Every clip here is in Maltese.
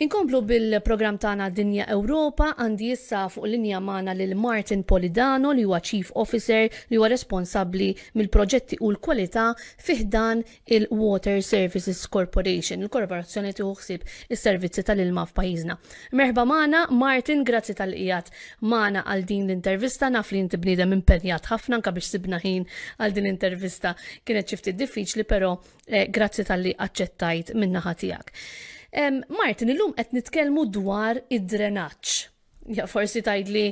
Inkomplu bil-programm tagħna Dinja Ewropa, għandi issa fuq linja magħna lil Martin Polidano li huwa Chief Officer li huwa responsabbli mill-proġetti u l-kwalità fi ħdan il-Water Services Corporation, il-korporazzjoni li tieħu ħsieb is-servizzi tal-ilma f'pajjiżna. Merħba magħna, Martin, grazzi talli qiegħed magħna għal din l-intervista, naf li inti bniedem impenjat ħafna anke biex sibna ħin għal din l-intervista kienet xi ftit diffiċli, però Eh, grazzi talli aċċettajt min-naħa tiegħek. Martin, illum qed nitkellmu dwar id-drenaġġ. Ja, forsi tgħidli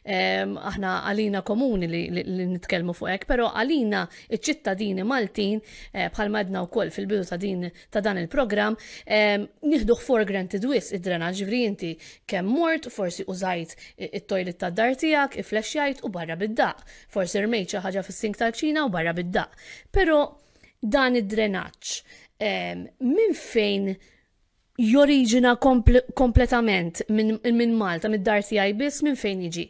aħna għalina komuni li, li, li nitkellmu fuq hekk, però għalina iċ-ċittadini Maltin eh, bħalma għedna wkoll fil-bidu ta' din ta' dan il-programm, nieħduh for granted wisq id-drenaġġ, ġifieri inti kemm mort, forsi użajt it-toilet tad-dar tiegħek, iflexxjajt u barra bid-daqq. Forsi rmejt xi ħaġa fis-sink tal-kċina u barra bid-daqq. Però dan id-drenaġġ minn fejn joriġina kompletament minn Malta, mid-dar tiegħi biss minn fejn jiġi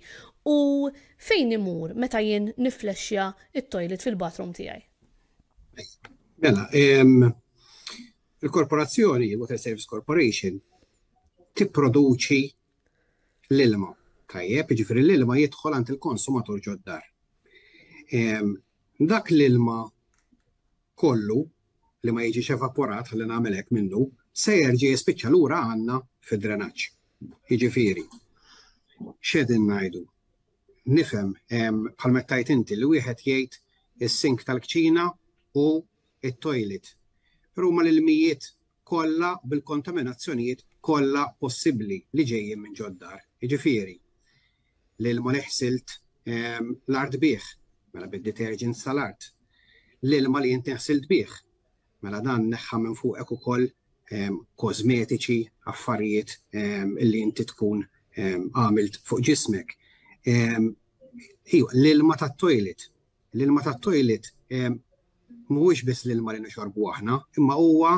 u fejn imur meta jien niflexxja it-toilet fil-bathroom tiegħi? Mela, il-korporazzjoni, Water Service Corporation, tipproduċi l-ilma. Tajjeb, jiġifieri l-ilma jidħol għand il-konsumatur ġod-dar. Dak l-ilma kollu li ma jiġix evaporat ħalli nagħmel hekk minnu, se jerġa' jispiċċa lura għandna fid-drenaġġ. Jiġifieri, x'qegħdin ngħidu? Nifhem bħal meta tgħid inti li wieħed jgħid is-sink tal-kċina u t-toilet. Però huma l-ilmijiet kollha bil-kontaminazzjonijiet kollha possibbli li ġejjin minn ġod-dar. Jiġifieri, l-ilma li ħsilt l-art bih, mela bid-detergents tal-art, l-ilma li inti ħsilt bih, mela dan neħħa minn fuqek ukoll kosmetiċi, affarijiet li inti tkun għamilt fuq ġismek. L-ilma tat-toilet, L-ilma tat-toilet mhuwiex biss l-ilma li nixorbu aħna, imma huwa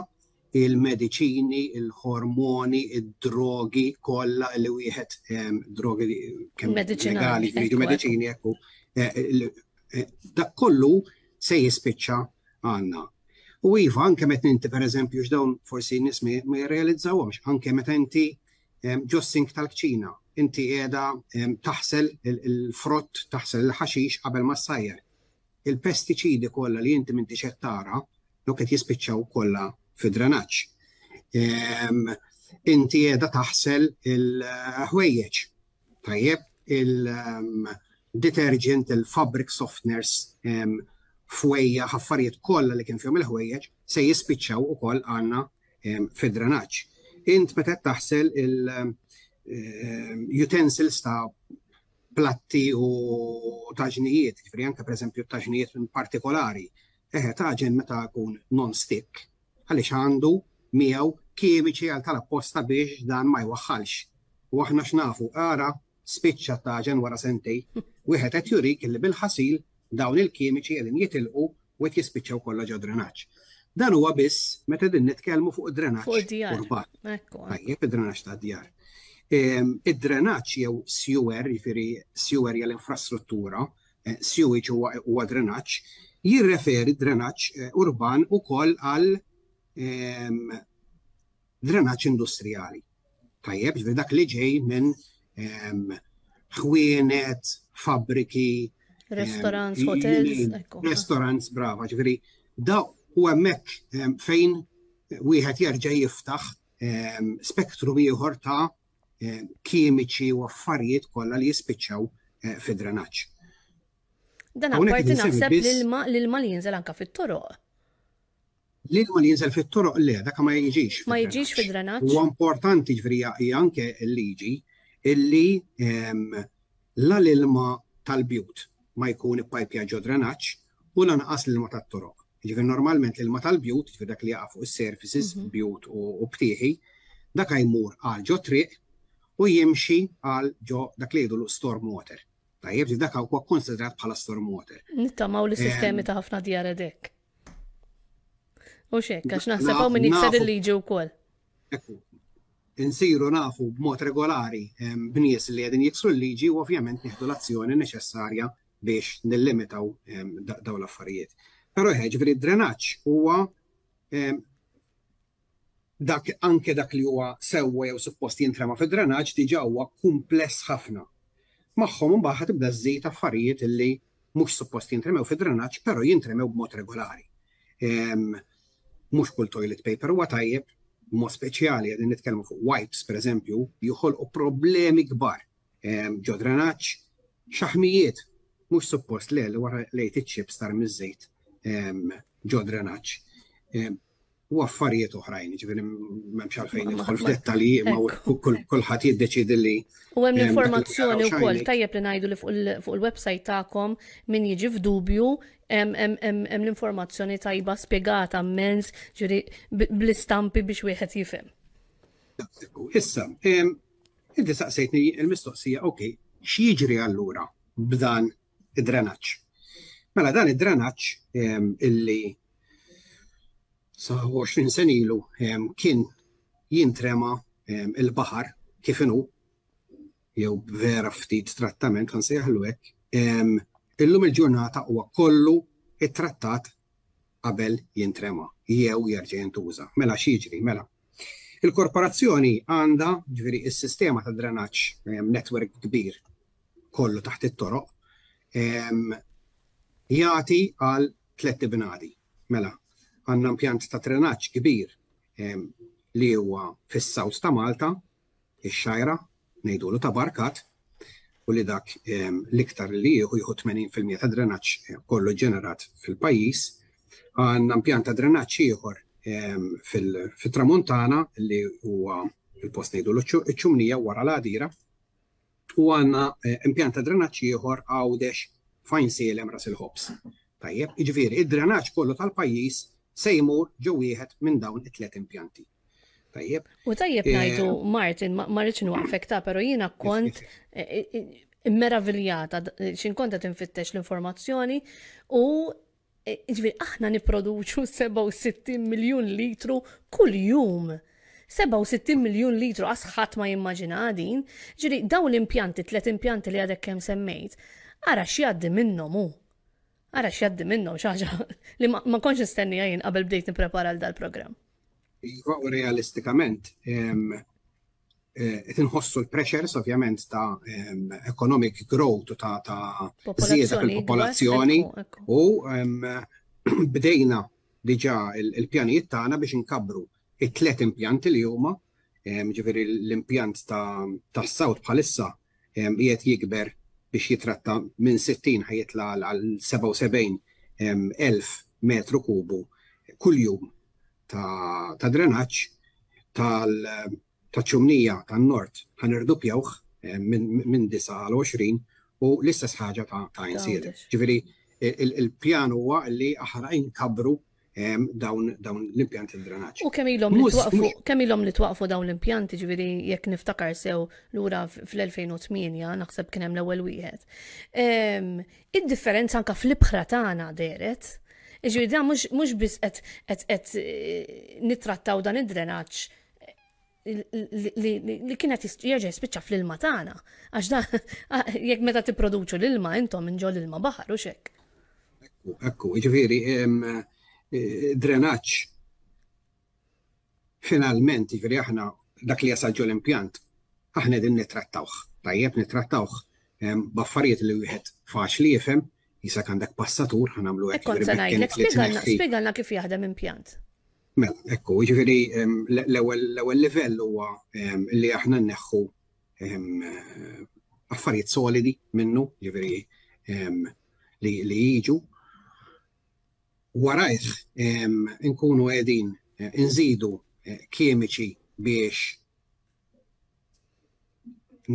il-mediċini, il-ħormoni, id-drogi kollha li wieħed drogi kemm legali, jiġu mediċini ekku. Eh, eh, dak kollu se jispiċċa għandna. U iva, anke meta inti pereżempju x'dawn forsi nies ma jirrealizzawhomx, anke meta inti ġos-sink tal-kċina, inti qiegħda taħsel il-frott, taħsel il-ħaxix qabel ma ssajjar. Il-pestiċidi kollha li inti m'intix qed tara, dawk qed jispiċċaw kollha fid-drenaġġ. Inti qiegħda taħsel il-ħwejjeġ. Tajjeb, il-detergent, il-fabric softeners, fwejjaħ, affarijiet kollha li kien fihom il-ħwejjeġ se jispiċċaw ukoll għandna fid-drenaġġ. Int meta qed taħsel il-utensils ta' platti u taġnijiet, ġifieri anke pereżempju taġnijiet partikolari, eħe taġen meta jkun non-stick, għaliex għandu miegħu kimiċi għal tal-apposta biex dan ma jwaħħalx. U aħna x'nafu, ara spiċċa t-taġen wara sentej, wieħed qed jurik illi bil-ħasil dawn il-kimiċi qegħdin jitilqu u qed jispiċċaw kollha ġo drenaġġ. Dan huwa biss meta qegħdin nitkellmu fuq id-drenaġġ urban. Tajjeb, id-drenaġġ tad-djar. Ehm, id-drenaġġ jew sewer, jiġifieri sewer hija l-infrastruttura, eh, sewage huwa drenaġġ, jirreferi drenaġġ eh, urban ukoll għal ehm, drenaġġ industrijali. Tajjeb, ġifieri dak li ġej minn ehm, ħwienet, fabbriki, ehm, restaurants, hotels, restaurants, brava, ġifieri da u hemmhekk ehm, fejn wieħed jerġa' jiftaħ spektru ieħor ta' kimiċi u affarijiet kollha li jispiċċaw eh, fid-drenaġġ. Dan apparti naħseb l-ilma li jinżel anka fit-toroq. L-ilma li jinżel fit-toroq le, dak ma jiġix. Ma jiġix fid-drenaġġ. Huwa importanti ġifieri hija anke l-liġi illi ehm, la l-ilma tal-bjut ma jkun ippajpja ġo drenaġġ u lanqas l-ilma tat-toroq. Ġifieri normalment l-ilma tal-bjut, ġifieri dak li jaqa' fuq is-surfaces, mhm. bjut u btieħi, dak jmur għal ġo triq u jimxi għal ġo dak li jgħidu storm water. Tajjeb, dak huwa konsidrat bħala storm water. Nittamaw li sistemi ta' ħafna djar hekk. U xek, għax naħseb hawn min jikser il-liġi wkoll. Ekku. Insiru nafu b'mod regolari b'nies li qegħdin jiksru l-liġi u ovvjament nieħdu l-azzjoni neċessarja biex nillimitaw dawn l-affarijiet. Però ġifieri d-drenaġġ huwa. Dak anke dak li huwa sewwa jew suppost jintrema fid-drenaġġ diġà huwa kumpless ħafna. Magħhom imbagħad ħa tibda żżid affarijiet illi mhux suppost jintremew fid-drenaġġ però jintremew b'mod regolari. Mhux kull toilet paper huwa tajjeb, b'mod speċjali qegħdin nitkellmu fuq wipes pereżempju, joħolqu problemi kbar ġo drenaġġ, xaħmijiet mhux suppost le li wara lejt iċ-chips tarmi ż-żejt ġo drenaġġ. U affarijiet oħrajn, ġifieri m'hemmx għalfejn nidħol f'dettalji imma kulħadd jiddeċiedi li. U hemm l-informazzjoni wkoll tajjeb li ngħidu li fuq il-website tagħkom min jiġi f'dubju hemm l-informazzjoni tajba spjegata mmens, ġifieri bl-istampi biex wieħed jifhem. Issa, inti saqsejtni l-mistoqsija, ok, x'jiġri allura b'dan id-drenaġġ? Mela dan id-drenaġġ illi sa 20 sen ilu kien jintrema il-baħar kif inhu jew vera ftit trattament kan sejħlu hekk, illum il-ġurnata huwa kollu ittrattat qabel jintrema jew jerġa' jintuża. Mela x'jiġri? Mela. Il-korporazzjoni għandha, ġifieri s-sistema ta' drenaġġ network kbir kollu taħt it-toroq, jagħti għal tlett ibnadi. Mela, għandna impjant ta' drenaġġ kbir li huwa fis-south ta' Malta, ix-Xgħajra, ngħidulu ta' Barkat, u li dak l-iktar li jieħu jieħu 80% ta' drenaġġ kollu ġenerat fil-pajjiż. Għandna impjant ta' drenaġġ ieħor fit-Tramuntana li huwa il-post ngħidulu ċ-Ċumnija wara l-Għadira. U għandna impjant ta' drenaġġ ieħor Għawdex f'Għajnsielem Ras il-Ħobż. Tajjeb, jiġifieri id-drenaġġ kollu tal-pajjiż se jmur ġo wieħed minn dawn it-tliet impjanti. Tajjeb. U tajjeb ngħidu Martin, ma rridx nwaqfek ta' però jiena kont immeraviljata x'in kont qed infittex l-informazzjoni u Jiġifieri aħna nipproduċu 67 miljun litru kuljum. 67 miljun litru qas ħadd ma jimmaġina din. Ġifieri dawn l-impjanti, tliet impjanti li għadek kemm semmejt, ara x'jgħaddi minnhom hu. Ara x'jgħaddi minnhom xi ħaġa li ma kontx nistennija jien qabel bdejt nipprepara għal dal-programm. Iva u realistikament qed inħossu l-pressures ovvjament ta' economic growth u ta' ta' żieda fil-popolazzjoni u bdejna diġà il-pjanijiet tagħna biex inkabbru it-tliet impjanti li huma, ġifieri l-impjant ta' South bħalissa qiegħed jikber biex jitratta minn 60 ħa jitla' għal 77 elf metru kubu kuljum ta' drenaġġ tal taċ-ċumnija tan-Nord ħa nirduppjawh minn 9 għal 20 u l-istess ħaġa ta' Għajnsielem. Ġifieri il-pjan huwa li aħna inkabbru dawn l-impjanti ta' drenaġġ. U kemm ilhom li twaqfu kemm ilhom li twaqfu dawn l-impjanti, ġifieri jekk niftakar sew lura fl-2008 naħseb kien hemm l-ewwel wieħed. Id-differenza anke fl-ibħra tagħna dehret. Ġifieri dan mhux biss qed nittrattaw dan id-drenaġġ li kienet jerġa' jispiċċa fl-ilma tagħna. Għax da jekk meta tipproduċu l-ilma intom minn ġol ilma baħar u xek. Ekku, ekku, ġifieri eh, drenaġġ finalment, ġifieri aħna dak li jasal ġol impjant, aħna qegħdin nittrattawh. Tajjeb nittrattawh b'affarijiet li wieħed faċli jifhem, jisak għandek passatur, ħanamlu hekk. Kont se ngħidlek, spjegalna kif jaħdem impjant. Mela, ekku, jiġifieri l-ewwel livell huwa li aħna nneħħu affarijiet solidi minnu, jiġifieri li jiġu. Warajh inkunu qegħdin inżidu kimiċi biex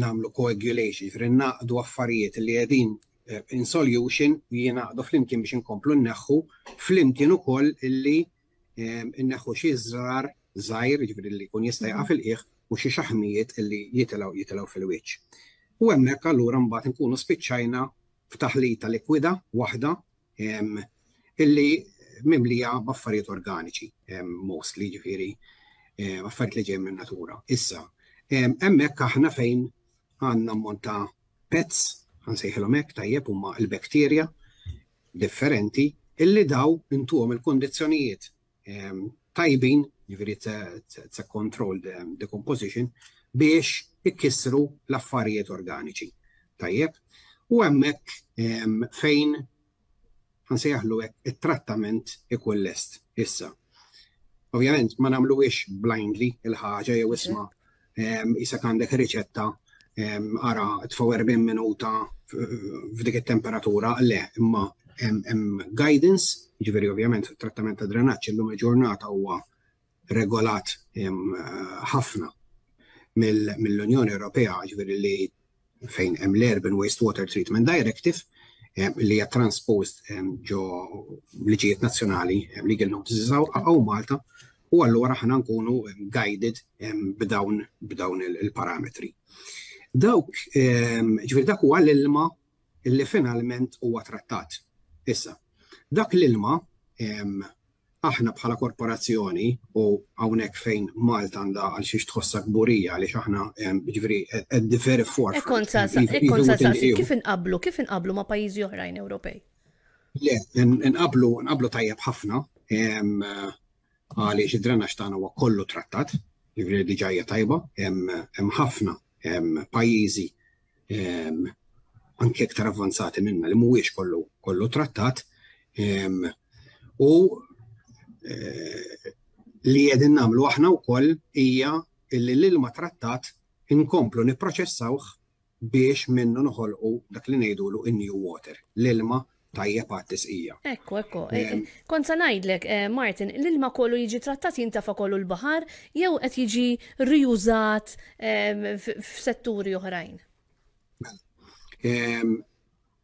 nagħmlu coagulation, jiġifieri naqdu affarijiet li qegħdin eh, in solution jingħaqdu flimkien biex inkomplu nneħħu flimkien ukoll illi eh, nneħħu xi żrar żgħir, jiġifieri li jkun jista' jaqa' fil-qiegħ u xi xaħmijiet illi jitilgħu jitilgħu fil-wiċċ. U hemmhekk allura mbagħad inkunu spiċċajna f'taħlita likwida waħda illi mimlija b'affarijiet organiċi, mostly ġifieri affarijiet li ġejjin min-natura. Issa, hemmhekk aħna fejn għandna ammont ta' pets, ħansejħilhom hekk tajjeb huma l-bakterja differenti illi daw intuhom il-kondizzjonijiet. tajbin, jiġifieri it's a controlled decomposition, biex ikissru l-affarijiet organiċi. Tajjeb? U hemmhekk fejn ħa nsejjaħlu hekk it-trattament ikun lest issa. Ovvjament ma nagħmluhiex blindly il-ħaġa jew isma' isek għandek riċetta ara tfgħu 40 minuta f'dik it-temperatura, le, imma hemm guidance, jiġifieri ovvjament fit-trattament ta' drenaġġ illum il-ġurnata huwa regolat ħafna mill-Unjoni Ewropea, ġifieri li fejn hemm l-Urban Wastewater Treatment Directive li hija transposed ġo liġijiet nazzjonali, legal notices hawn Malta, u allura aħna nkunu guided b'dawn b'dawn il-parametri. Dawk, ġifieri dak huwa l-ilma li finalment huwa trattat. Issa, dak l-ilma aħna bħala korporazzjoni u hawnhekk fejn Malta għandha għal xiex tħossha kburija għaliex aħna ġifieri at the very forefront. Kont sa kif inqablu, kif inqablu ma' pajjiżi oħrajn Ewropej? Le, inqablu nqablu tajjeb ħafna għaliex id-drenaġġ tagħna huwa kollu trattat, ġifieri diġà hija tajba, hemm ħafna pajjiżi anke iktar avvanzati minna li mhuwiex kollu kollu trattat u eh, li qegħdin nagħmlu aħna wkoll hija li l-ilma trattat inkomplu nipproċessawh biex minnu noħolqu dak li ngħidulu in-new water, l-ilma tajjeb għat-tisqija. Ekku, ekku. Eh, eh, kont sa ngħidlek, eh, Martin, l-ilma kollu jiġi trattat jintafa kollu l-baħar jew qed jiġi riużat f'setturi oħrajn? Mela,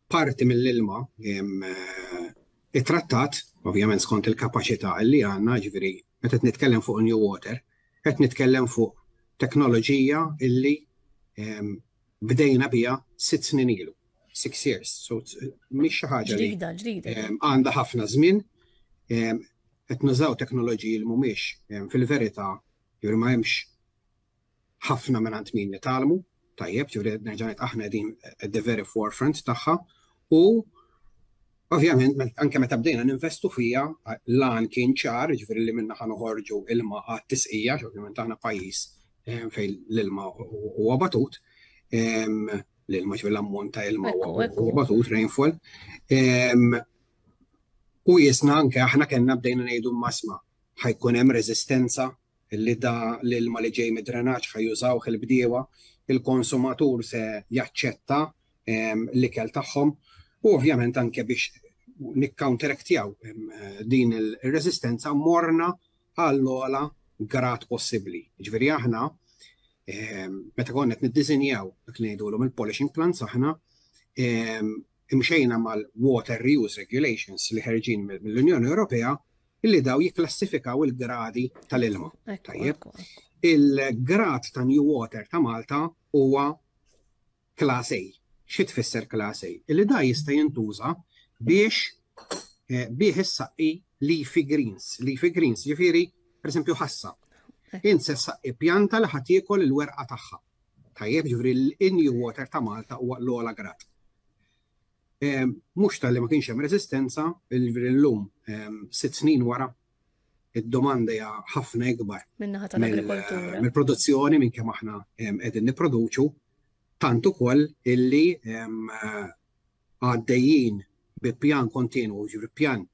parti mill-ilma it-trattat, ovvjament skont il-kapaċità li għandna, ġifieri meta qed nitkellem fuq New Water, qed nitkellem fuq teknoloġija illi bdejna biha sitt snin ilu. Six years. So mhix xi ħaġa li Ġdida, ġdida. għandha ħafna żmien. Qed nużaw teknoloġiji li mhumiex fil-verità ġifieri ma hemmx ħafna minn min nitgħallmu, tajjeb, ġifieri nerġa' ngħid aħna qegħdin at the very forefront tagħha u ovvjament anke meta bdejna ninvestu fija l-għan kien ċar, ġifieri li minna ħa noħorġu ilma għat-tisqija, ovvjament aħna pajjiż fejn l-ilma huwa batut, l-ilma ġifieri l-ammont ta' ilma huwa batut, rainfall. U jisna anke aħna kellna bdejna ngħidu masma ħa jkun hemm reżistenza li da l-ilma li ġej mid-drenaġġ ħa jużawh il-bdiewa, il-konsumatur se jaċċetta l-ikel tagħhom u ovvjament anke biex nikcounteractjaw din il-reżistenza morna għall-ogħla grad possibbli. Ġifieri aħna meta konna qed niddisinjaw dak li ngħidulhom il-polishing plants aħna imxejna mal-Water Reuse Regulations li ħerġin mill-Unjoni Ewropea illi daw jikklassifikaw il-gradi tal-ilma. Tajjeb. Il-grad ta' New Water ta' Malta huwa Class A. Xi tfisser Class A? Illi da jista' jintuża biex eh, bih issaqqi leafy greens. Leafy greens, ġifieri, pereżempju ħassa. Int se ssaqqi pjanta li ħa tiekol il-werqa tagħha. Tajjeb, ġifieri l-New Water ta' Malta huwa l-ogħla grad. Mhux talli ma kienx hemm reżistenza, ġifieri llum sitt snin wara id-domanda hija ħafna ikbar Min-naħa tal-agrikoltura. mill-produzzjoni minn kemm aħna qegħdin nipproduċu, tant ukoll illi għaddejjin bi pjan kontinwu, ġifieri pjan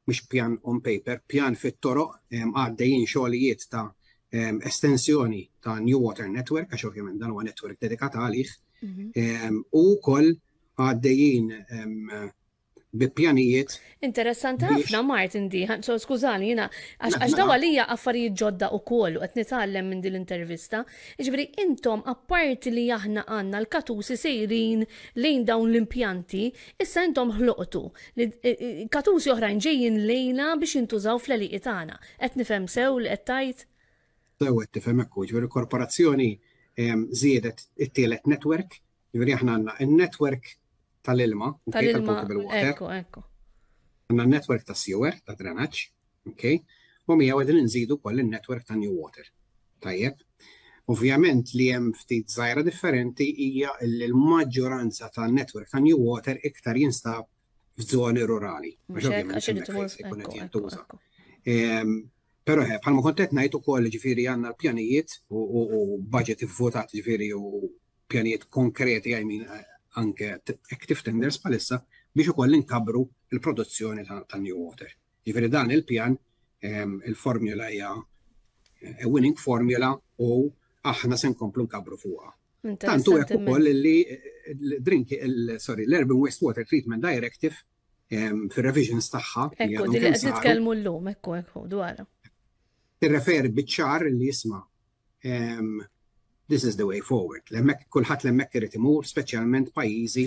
mhux pjan on paper, pjan fit-toroq, għaddejjin xogħlijiet ta' estensjoni ta' New Water Network, għax ovvjament dan huwa network dedikat għalih, mhm. u wkoll għaddejjin bi pjanijiet. Interessanti ħafna Martin di, so skużani jiena għax daw għalija affarijiet ġodda ukoll u qed nitgħallem minn din l-intervista. Jiġifieri intom apparti li aħna għandna l-katusi sejrin lejn dawn l-impjanti, issa intom ħloqtu li katusi oħrajn ġejjin lejna biex jintużaw fl-għelieqi tagħna. Qed nifhem sew li qed tgħid? Sew qed tifhem hekk, jiġifieri l-korporazzjoni żiedet it-tielet network, jiġifieri aħna għandna in-network tal-ilma, tal-ilma, ekku, ekku. Għandna n-network ta' sewer, ta' drenaġġ, ok? U miegħu qegħdin inżidu wkoll in-network ta' New Water. Tajjeb. Ovvjament li hemm ftit żgħira differenti hija li l-maġġoranza tan-network ta' New Water iktar jinstab f'żoni rurali. Però eh, bħalma kont qed ngħid ukoll ġifieri għandna l-pjanijiet u budget ivvotat ġifieri u pjanijiet konkreti I mean eh, anke active tenders bħalissa biex ukoll inkabru il-produzzjoni ta' New Water. Ġifieri dan il-pjan il-formula hija a winning formula u aħna se nkomplu nkabru fuqha. Tantu hekk ukoll li drink sorry, l-Urban Wastewater Treatment Directive fir-revisions tagħha. Ekku, din li qed nitkellmu llum, ekku, ekku, dwarha. Tirreferi biċ-ċar li jisma' this is the way forward. L-hemmhekk kulħadd l-hemmhekk irid imur, speċjalment pajjiżi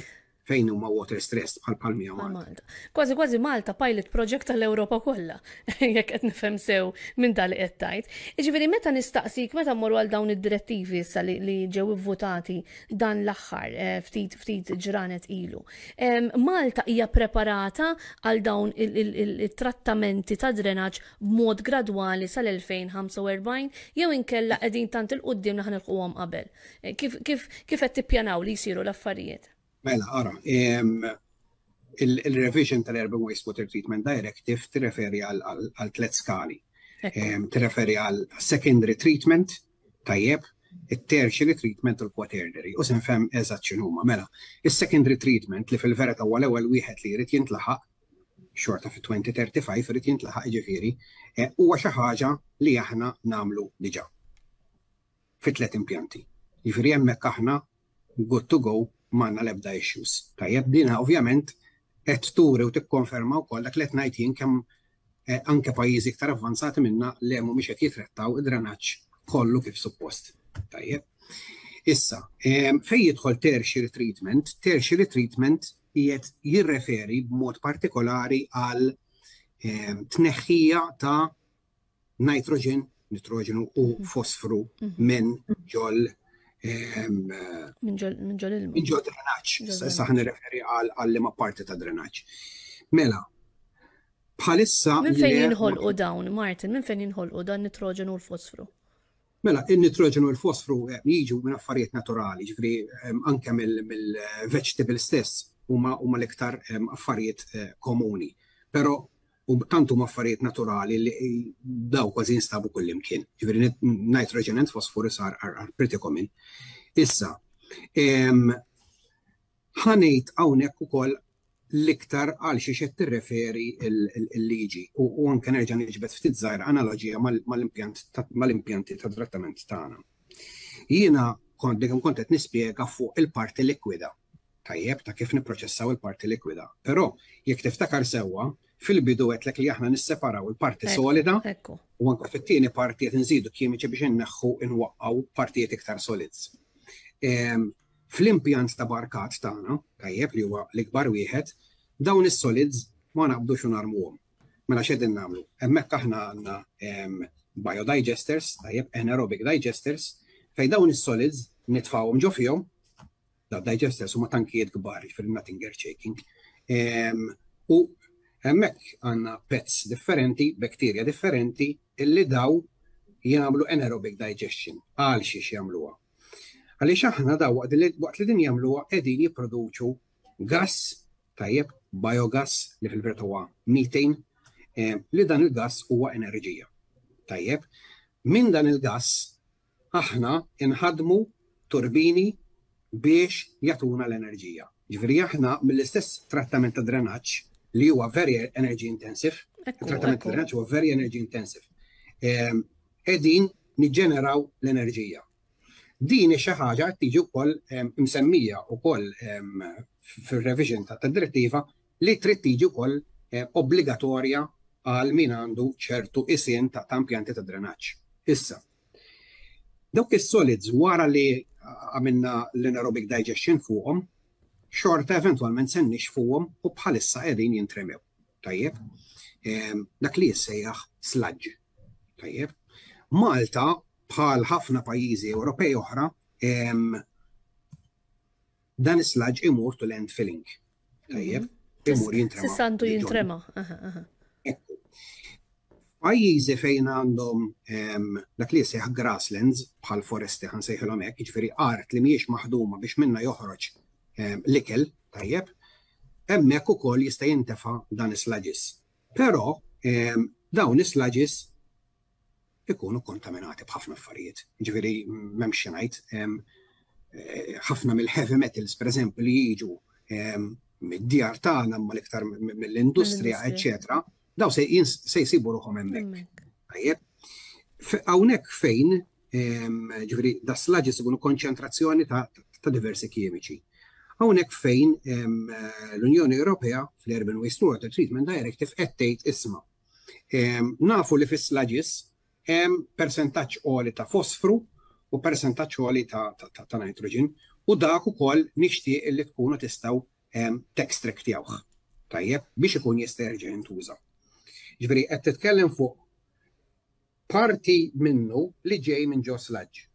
fejn huma water stressed bħal Palmija Malta. Kważi kważi Malta pilot project tal-Ewropa kollha, jekk qed nifhem sew minn dal qed tgħid. Jiġifieri meta nistaqsik meta mmorru għal dawn id-direttivi issa li, li ġew ivvutati dan l-aħħar eh, ftit ftit ġranet ilu. Malta hija preparata għal dawn il-trattamenti ta' drenaġġ b'mod gradwali sal-2045 jew inkella qegħdin tant il-quddiem li ħanilħquhom qabel. Eh, kif, kif, kif qed tippjanaw li jsiru l-affarijiet? Mela, ara, il-revision tal-Urban Wastewater Treatment Directive tirreferi għal tlet skali. Tirreferi għal secondary treatment, tajjeb, it-tertiary treatment u l-quaternary. U se nfhem eżatt x'inhuma. Mela, is-secondary treatment li fil-verità huwa l-ewwel wieħed li jrid jintlaħaq, xorta fi 2035 irid jintlaħaq ġifieri, eh, huwa xi ħaġa li aħna nagħmlu diġà fi tliet impjanti. Jiġifieri hemmhekk aħna good to go m'għandna l-ebda issues. Tajjeb, dina ovvjament qed turi u tikkonferma wkoll dak li qed ngħid jien kemm eh, anke pajjiżi iktar avvanzati minna li mhumiex qed jitrattaw id-drenaġġ kollu kif suppost. Tajjeb. Issa, fejn jidħol tertiary treatment, tertiary treatment qiegħed jirreferi b'mod partikolari għal tneħħija ta' nitrogen, nitroġenu u mhm. fosfru mhm. minn ġol minn ġol ilma. Minn ġol drenaġġ. Issa ħan nirreferi għal liema parti ta' drenaġġ. Mela, bħalissa. Minn fejn jinħolqu dawn, Martin, minn fejn jinħolqu dan nitroġenu u l-fosfru? Mela, il-nitroġenu u l-fosfru eh, jiġu minn affarijiet naturali, ġifri anke mill-vegetable stess huma huma l-iktar affarijiet eh, komuni. Però u tant huma affarijiet naturali li daw kważi jinstabu kullimkien. Ġifieri nitrogen and phosphorus are, are, are pretty common. Issa, ħanejt hawnhekk ukoll l-iktar għal xiex qed tirreferi l-liġi u anke nerġa' niġbed ftit żgħir analoġija mal-impjanti ta' trattament tagħna. Jiena kont dik kont qed nispjega fuq il-parti likwida. Tajjeb ta' kif nipproċessaw il-parti likwida. Però jekk tiftakar sewwa, fil-bidu għedtlek li aħna nisseparaw il-parti solida u anke fit-tieni parti qed inżidu kimiċi biex inneħħu inwaqqgħu partijiet iktar solids. Fl-impjant ta' Barkat tagħna, tajjeb li huwa l-ikbar wieħed, dawn is-solids ma naqbdux u narmuhom. Mela x'qegħdin nagħmlu? Hemmhekk aħna għandna biodigesters, tajjeb, anaerobic digesters, fejn dawn is-solids nitfgħuhom ġo fihom, da digesters huma tankijiet kbar, jiġifieri nothing earth shaking. U hemmhekk għandna pets differenti, bakterja differenti, illi daw jagħmlu anaerobic digestion. Għal xiex jagħmluha? Għaliex aħna daw waqt li din jagħmluha qegħdin jipproduċu gass, tajjeb, biogas li fil-verità huwa methane, eh, li dan il-gass huwa enerġija. Tajjeb, minn dan il-gass aħna inħadmu turbini biex jagħtuna l-enerġija. Ġifieri aħna mill-istess trattament ta' drenaġġ li huwa very energy intensive, trattament ta' drenaġġ huwa very energy intensive. Ehm, qegħdin niġġeneraw l-enerġija. Din hi xi ħaġa qed tiġi wkoll ehm, msemmija wkoll ehm, fir-revision ta' direttiva li trid tiġi wkoll eh, obbligatorja għal min għandu ċertu isien ta' impjanti ta' drenaġġ. Issa, dawk is-solids wara li għamilna l-anaerobic digestion fuqhom, xorta eventwalment se nixfuhom u bħalissa qegħdin jintremew. Tajjeb, ehm, dak li jissejjaħ sludge. Tajjeb, Malta bħal ħafna pajjiżi Ewropej oħra ehm, dan is-sludge imur to landfilling. Tajjeb, mhm. imur jintrema. Sissantu jintrema. Pajjiżi fejn għandhom dak li jseħ grasslands bħal foresti ħansejħilhom hekk, jiġifieri art li mhijiex maħduma biex minna joħroġ l-ikel, tajjeb, hemmhekk ukoll jista' jintefa' dan is-sludges. Però dawn is-sludges. ikunu kontaminati b'ħafna affarijiet. Ġifieri m'hemmx xi ngħid, eh, ħafna mill-heavy metals pereżempju li jiġu mid-djar tagħna ma l-iktar mill-industrija, eċċetera, daw se jsibu ruħhom hemmhekk. Tajjeb. Hawnhekk fejn ġifieri da sludges ikunu konċentrazzjoni ta' diversi kimiċi. Hawnhekk fejn l-Unjoni Ewropea fl-Urban Wastewater Treatment Directive qed tgħid isma' Nafu li fis-sludges hemm persentaġġ għoli ta' fosfru u persentaġġ għoli ta' nitrogen u dak ukoll nixtieq li tkunu tistgħu textractjawh. Tajjeb, biex ikun jista' jerġa' jintuża. Ġifieri qed titkellem fuq parti minnu li ġej minn ġo sludge.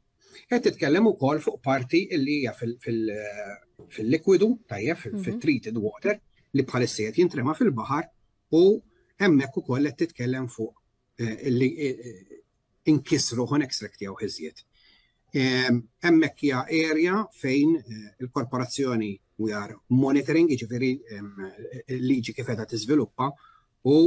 Qed titkellem ukoll fuq parti li hija fil-likwidu, tajjeb, mhm. fit-treated water, li bħalissa qed jintrema fil-baħar u hemmhekk ukoll qed titkellem fuq eh, li eh, inkisru ħon extract jew iżjed. Ehm, hemmhekk hija area fejn eh, il-korporazzjoni we are monitoring, jiġifieri ehm, liġi kif qiegħda tiżviluppa u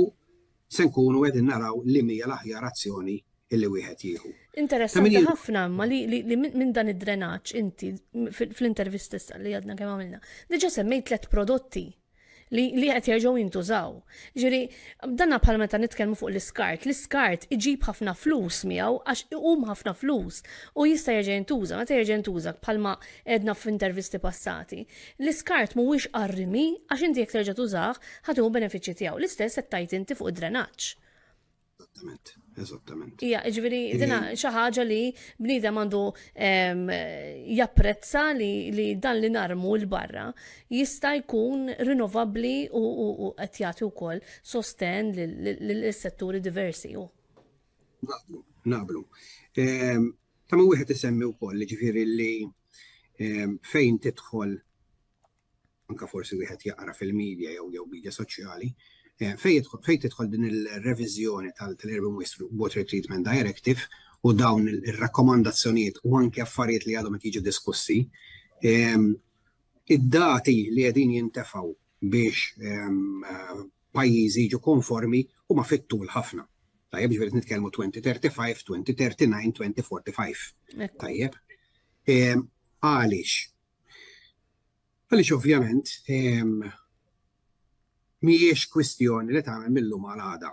se nkunu qegħdin naraw li mija l-aħjar azzjoni illi wieħed jieħu. Interessanti ħafna imma li, li, li minn dan id-drenaġġ inti fl-intervista li għadna kemm għamilna, diġà semmejt tliet prodotti li, li qed jerġgħu jintużaw. Ġifieri, danna bħal meta nitkellmu fuq l-iskart, l-iskart iġib ħafna flus miegħu għax iqum ħafna flus u jista' jerġa' jintuża, meta jerġa' jintuża bħalma għedna f'intervisti passati. L-iskart mhuwiex għar-rimi għax inti jekk terġa' tużah ħa tieħu benefiċċji tiegħu. L-istess qed tgħid inti fuq id-drenaġġ. Eżattament, eżattament. Ija, ġifieri dina xi ħaġa li bniedem għandu japprezza li, li dan li narmu l barra jista' jkun rinnovabbli u qed jagħti wkoll sosten lill-setturi diversi. Naqblu, naqblu. Ta' ma wieħed isemmi wkoll ġifieri li fejn tidħol anka forsi wieħed jaqra fil-media jew jew media soċjali, eh, fejn tidħol din il-reviżjoni tal-Urban Waste Water Treatment Directive u dawn ir-rakkomandazzjonijiet u anke affarijiet li għadhom qed jiġu diskussi, ehm, id-dati li qegħdin jintefgħu biex ehm, pajjiżi jiġu konformi huma fit-tul ħafna. Tajjeb, ġifieri nitkellmu 2035, 2039, 2045. Tajjeb. Ehm, għaliex? Għaliex ovvjament mhijiex kwistjoni li tagħmel mill-lum għal għada.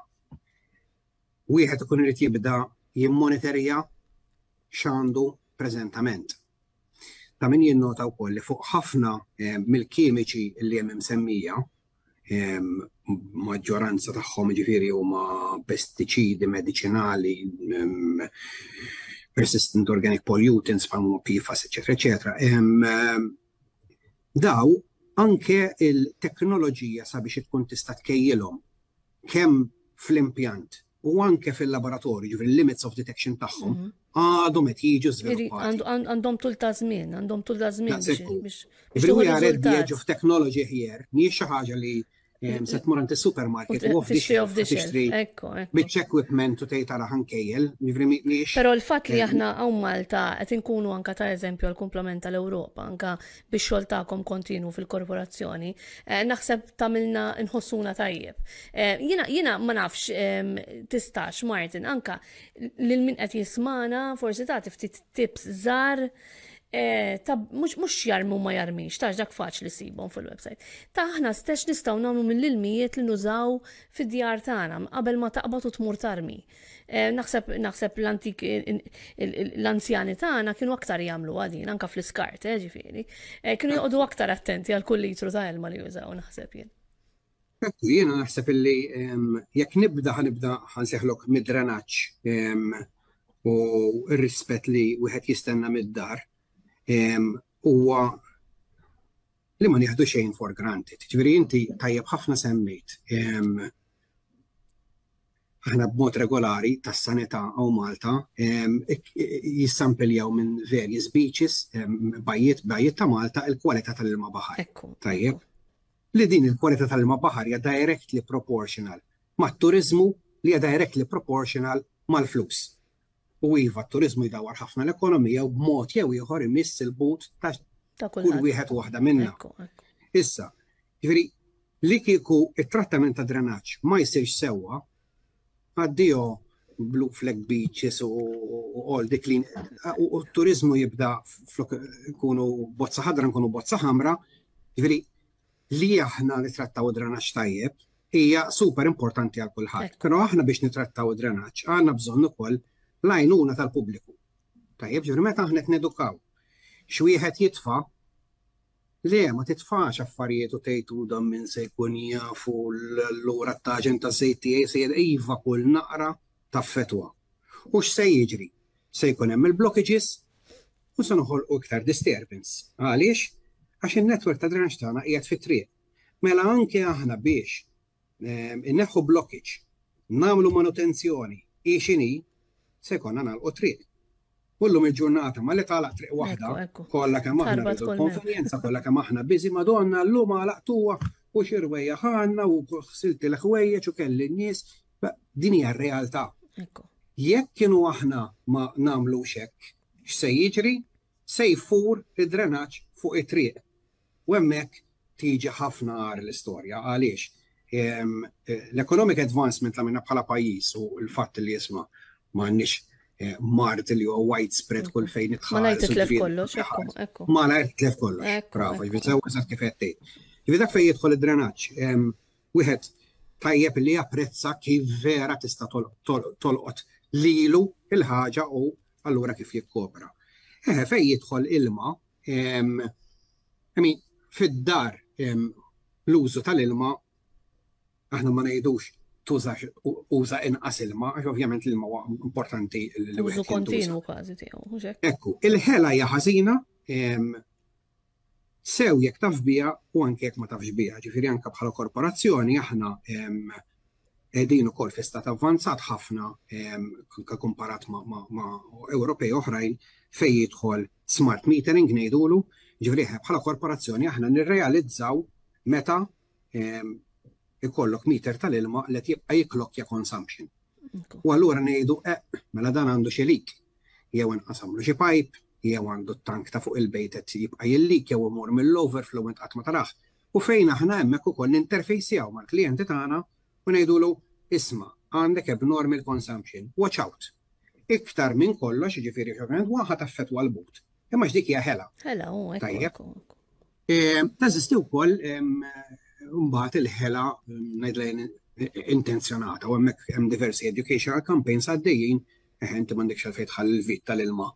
Wieħed ikun irid jibda jimmonitorja x'għandu preżentament. Ta' min jinnota wkoll li fuq ħafna mill-kimiċi li hemm imsemmija, maġġoranza tagħhom ġifieri huma pestiċidi mediċinali, persistent organic pollutants bħal huma PFAS, eċetera, eċetera. Daw anke il-teknoloġija sabiex tkun tista' tkejjilhom kemm fl-impjant u anke fil-laboratorju, ġifieri limits of detection tagħhom, mhm. għadhom qed jiġu żviluppati. Għandhom tul ta' żmien, għandhom tul ta' żmien biex. We are at the edge of technology here, mhijiex xi ħaġa li se tmur għand is-supermarket u off the shelf tixtri biċċ equipment u tgħid tara ħankejjel, jiġifieri mhijiex. Però l-fatt li aħna hawn Malta qed inkunu anka ta' eżempju għal kumplament tal-Ewropa, anka bix-xogħol tagħkom kontinwu fil-korporazzjoni, eh, naħseb tagħmilna nħossuna tajjeb. Eh, jiena jiena ma nafx tistax Martin anka lil min qed jismana forsi tagħti ftit tips żgħar eh, ta' mhux jarmu ma jarmix, tax dak faċli sibhom fil-website. Ta' aħna stess nistgħu nagħmlu mill-ilmijiet li nużaw fid-djar tagħna qabel ma taqbad u tmur tarmi. Eh, naħseb naħseb l-antik l-anzjani tagħna kienu aktar jagħmlu din anka fl-iskart, eh, ġifieri. Eh, kienu joqogħdu aktar attenti għal kull litru ta' ilma li jużaw naħseb jien. Ekku, jiena naħseb illi jekk nibda ħanibda ħanseħlok mid-drenaġġ u r-rispett li wieħed jistenna mid-dar huwa li ma nieħdu xejn for granted. Ġifieri inti tajjeb ħafna semmejt aħna b'mod regolari tas-sanità hawn Malta jissampiljaw minn various beaches, bajjiet bajjiet ta' Malta il-kwalità tal-ilma baħar. Tajjeb. Li din il-kwalità tal-ilma baħar hija directly proportional mat-turiżmu li hija directly proportional mal-flus. U iva, t-turiżmu jdawwar ħafna l-ekonomija u b'mod jew ieħor imiss il-but ta' kull wieħed u waħda minna. Issa, ġifieri, li kieku it-trattament ta' drenaġġ ma jsirx sewwa, addio Blue Flag Beaches u all the clean u t-turizmu jibda flok nkunu bozza ħadra nkunu bozza ħamra, ġifieri li aħna nitrattaw id-drenaġġ tajjeb hija super importanti għal kulħadd. Però aħna biex nitrattaw id-drenaġġ għandna bżonn ukoll l-għajnuna tal-pubbliku. Tajjeb, ġifieri meta aħna qed nedukaw x'wieħed jitfa' Le, ma titfax affarijiet u tgħid u dan min se jkun jaf u allura t-taġen taż-żejt tiegħi se jgħid iva kull naqra taffettwa. U x'se jiġri? Se jkun hemm il-blockages u se noħolqu iktar disturbance. Għaliex? Għax in-network ta' drenaġġ tagħna qiegħed fit-triq. Mela anke aħna biex inneħħu blockage, nagħmlu manutenzjoni, hi x'inhi, se jkollna nagħlqu triq. U llum il-ġurnata ma li tagħlaq triq waħda, kollha kemm aħna rridu l-konvenjenza, kollha kemm aħna biżi Madonna llum għalaqtuha u xi rwejjaħ għandna u ħsilt il-ħwejjeġ u kelli n-nies. Din hija r-realtà. Jekk kienu aħna ma nagħmlux hekk, x'se jiġri? Se jfur id-drenaġġ fuq it-triq. U hemmhekk tiġi ħafna agħar l-istorja. Għaliex? L-economic advancement li għamilna bħala pajjiż u l-fatt li isma' m'għandniex eh, mard li huwa widespread kull fejn idħal. Malajr titlef kollox, ekku, ekku. Malajr titlef kollox. Bravo, ġifieri sew eżatt kif qed tgħid. Ġifieri dak fejn jidħol id-drenaġġ, wieħed tajjeb li japprezza kif vera tista' tolqot lilu il-ħaġa u allura kif jikkopra. Eħe, fejn jidħol ilma, I mean, fid-dar l-użu tal-ilma aħna ma ngħidux tużax uża inqas ilma, għax ovvjament l-ilma huwa importanti li Użu kontinu kważi tiegħu, mhux hekk? Ekku, il-ħela hija ħażina sew jekk taf biha u anke jekk ma tafx biha. Ġifieri anke bħala korporazzjoni aħna qegħdin ukoll fi stat avvanzat ħafna komparat ma' Ewropej oħrajn fejn jidħol smart metering ngħidulu, ġifieri bħala korporazzjoni aħna nirrealizzaw meta ikollok meter tal-ilma li qed jibqa' jiklokkja consumption. U allura ngħidu eh, mela dan għandu xi leak, jew inqasamlu xi pipe, jew għandu t-tank ta' fuq il-bejt qed jibqa' jillik jew imur mill-overflow int qatt ma tarah. U fejn aħna hemmhekk ukoll ninterfejsjaw mal-klijenti tagħna u ngħidulu isma' għandek abnormal consumption, watch out. Iktar minn kollox, jiġifieri ovvjament waħda taffettwa l-but. Imma x'dik hija ħela. Ħela, u Tajjeb. Teżisti wkoll mbagħad il-ħela ngħidlejn intenzjonata u hemmhekk hemm diversi educational campaigns għaddejjin, inti m'għandekx għalfejn tħalli l-vit tal-ilma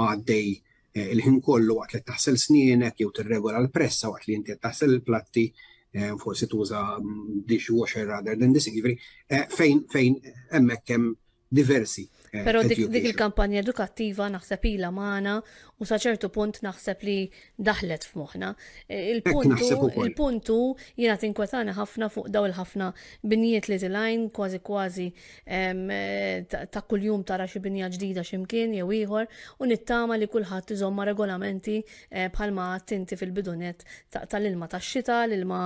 għaddej eh, il-ħin kollu waqt li taħsel snienek jew tirregola l-pressa waqt li inti qed taħsel il-platti eh, forsi tuża mm, dishwasher rather than this, jiġifieri eh, fejn fejn hemmhekk hemm diversi. Però dik, dik il-kampanja edukattiva naħseb ilha magħna u sa ċertu punt naħseb li daħlet f'moħħna. Il-puntu il-puntu jiena tinkwetani ħafna fuq daw il-ħafna binjiet li tilajn kważi kważi ta' kuljum tara xi binja ġdida x'imkien jew ieħor u nittama li kulħadd iżomm ma' regolamenti eh, bħalma għadt inti fil-bidunet tal-ilma tax-xita, l-ilma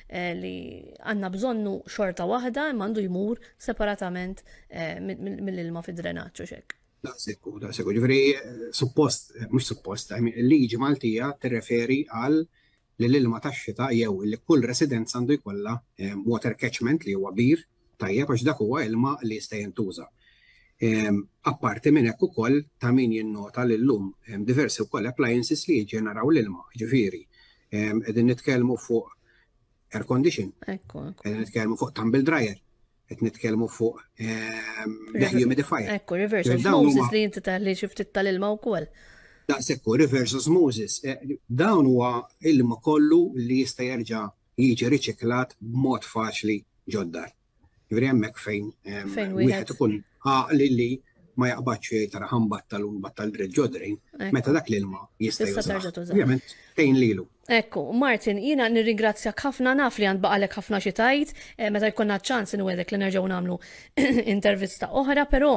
eh, li għandna bżonnu xorta waħda imma għandu jmur separatament eh, mill-ilma fid-drenaġġ u xek. Daqsekku, daqsekku. Ġifieri suppost, mhux suppost, il-liġi Maltija tirreferi għal li l-ilma tax-xita jew li kull residenza għandu jkollha water catchment li huwa bir tajjeb għax dak huwa ilma li jista' jintuża. Apparti minn hekk ukoll ta' min jinnota li llum hemm diversi wkoll appliances li jiġġeneraw l-ilma, jiġifieri qegħdin nitkellmu fuq air condition, qegħdin nitkellmu fuq tumble dryer, qed nitkellmu fuq ehm, dehumidifier. Ekku, reverse osmosis li inti taħli xi ftit tal-ilma wkoll. Daqshekk reverse osmosis. Eh, dawn huwa ilma kollu li jista' jerġa' jiġi riċiklat b'mod faċli ġoddar. Ġifieri hemmhekk fejn ehm, wieħed ikun għaqli li ma jaqbadx jgħid tara ħambattal u nbattal dritt ġodrejn, meta dak l-ilma jista' jużah. Ovvjament tgħin lilu. Ekku, Martin, jiena nirringrazzjak ħafna naf li għand baqalek ħafna xi tgħid, eh, meta jkollna ċans inwedek li nerġgħu nagħmlu intervista oħra, però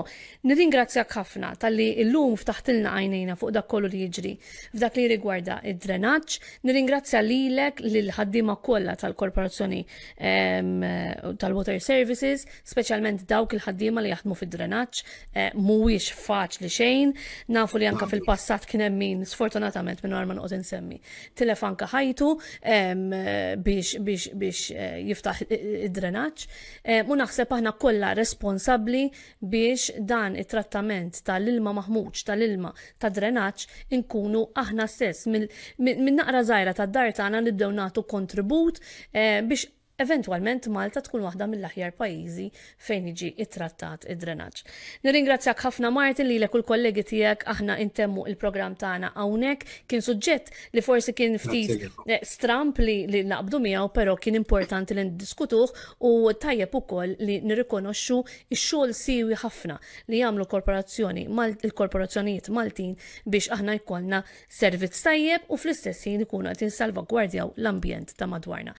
nirringrazzjak ħafna talli llum ftaħtilna għajnejna fuq dak kollu li jiġri f'dak li rigwarda id-drenaġġ. Nirringrazzja lilek lil ħaddiema kollha tal-Korporazzjoni ehm, tal-Water Services, speċjalment dawk il-ħaddiema li jaħdmu fid-drenaġġ, eh, mhuwiex faċli xejn, nafu li anka fil-passat kien hemm min sfortunatament minn ma noqgħod insemmi. Tilef anka anke ħajtu biex biex biex eh, jiftaħ id-drenaġġ. U naħseb aħna kollha responsabbli biex dan it-trattament tal-ilma maħmuġ, tal-ilma ta' drenaġġ inkunu aħna stess minn naqra żgħira tad-dar tagħna nibdew nagħtu kontribut biex eventwalment Malta tkun waħda mill-aħjar pajjiżi fejn jiġi ittrattat id-drenaġġ. Nirringrazzjak ħafna, Martin, lilek u l-kollegi tiegħek. Aħna intemmu il-programm tagħna hawnhekk. Kien suġġett li forsi kien ftit stramp li naqbdu miegħu, però kien importanti li ndiskutuh u tajjeb ukoll li nirrikonoxxu x-xogħol siwi ħafna li jagħmlu korporazzjoni il-korporazzjonijiet Maltin biex aħna jkollna servizz tajjeb u fl-istess ħin ikunu qed insalvagwardjaw l-ambjent ta' madwarna.